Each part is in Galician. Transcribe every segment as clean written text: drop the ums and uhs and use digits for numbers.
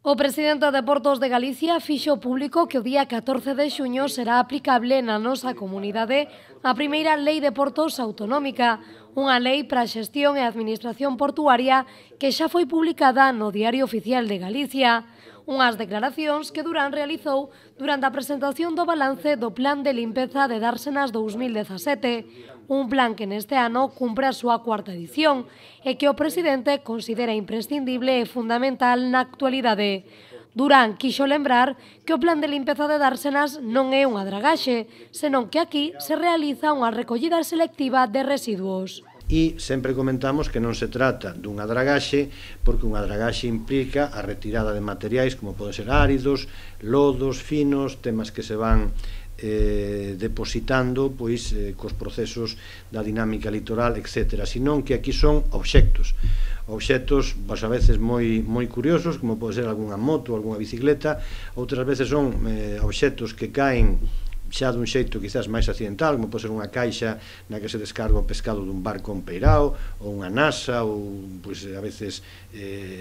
O presidente de Portos de Galicia fixo público que o día 14 de xuño será aplicable na nosa comunidade a primeira lei de portos autonómica, unha lei para a xestión e administración portuaria que xa foi publicada no Diario Oficial de Galicia. Unhas declaracións que Durán realizou durante a presentación do balance do Plan de Limpeza de Dársenas 2017, un plan que neste ano cumpre a súa cuarta edición e que o presidente considera imprescindible e fundamental na actualidade. Durán quixo lembrar que o plan de limpeza de Dársenas non é unha dragaxe, senón que aquí se realiza unha recollida selectiva de residuos. E sempre comentamos que non se trata dunha dragaxe, porque unha dragaxe implica a retirada de materiais como poden ser áridos, lodos, finos, temas que se van depositando cos procesos da dinámica litoral, etc. Senón que aquí son obxectos a veces moi curiosos, como pode ser algunha moto ou algunha bicicleta, outras veces son obxectos que caen xa dun xeito quizás máis accidental, como pode ser unha caixa na que se descarga o pescado dun barco empeirao, ou unha nasa, ou a veces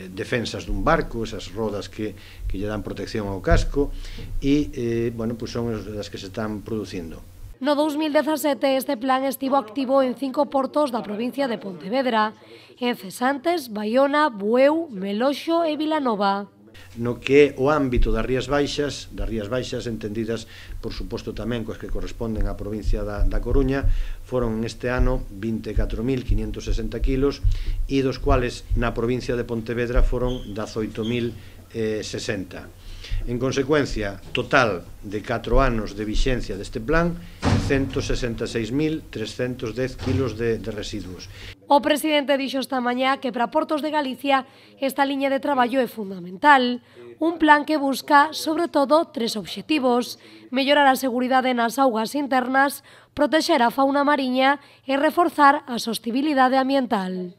defensas dun barco, esas rodas que lle dan protección ao casco, e son as que se están producindo. No 2017 este plan estivo activo en 5 portos da provincia de Pontevedra, en Cesantes, Baiona, Bueu, Meloxo e Vilanova. No que é o ámbito das Rías Baixas entendidas, por suposto, tamén coas que corresponden á provincia da Coruña, foron este ano 24.560 kilos e dos cuales na provincia de Pontevedra foron 18.060. En consecuencia, total de 4 anos de vixencia deste plan, 166.310 kilos de residuos. O presidente dixo esta mañá que para Portos de Galicia esta liña de traballo é fundamental. Un plan que busca, sobre todo, 3 obxectivos: mellorar a seguridade nas augas internas, protexer a fauna mariña e reforzar a sostibilidade ambiental.